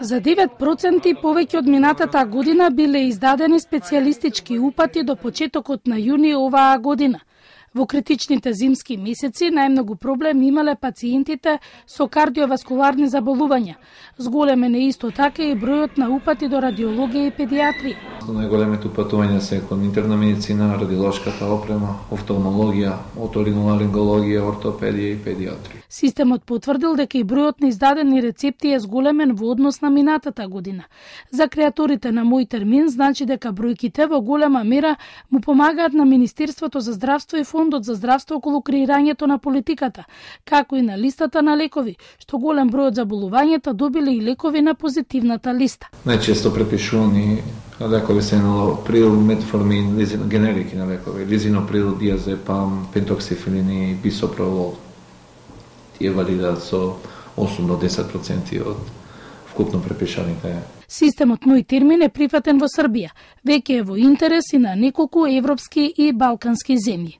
За 9% повеќе од минатата година биле издадени специјалистички упати до почетокот на јуни оваа година. Во критичните зимски месеци најмногу проблем имале пациентите со кардиоваскуларни заболувања. Зголемен е исто така и бројот на упати до радиологија и педиатрија. Најголемите упатувања се кон интерна медицина, радиолошката опрема, офталмологија, оториноларингологија, ортопедија и педиатрија. Системот потврдил дека и бројот на издадени рецепти е зголемен во однос на минатата година. За креаторите на Мој термин значи дека бројките во голема мера му помагаат на Министерството за здравство и Фондот за здравство околу креирањето на политиката, како и на листата на лекови, што голем број од заболувањата добиле и лекови на позитивната листа. Најчесто препишувани лекови се енолаприл, метформин, генерики на лекови, лизиноприл, диазепам, пентоксифилин и бисопролол. Тие валидат со 8 до 10% од вкупно препишаните. Системот Мој термин е прифатен во Србија, веќе е во интерес и на неколку европски и балкански земји.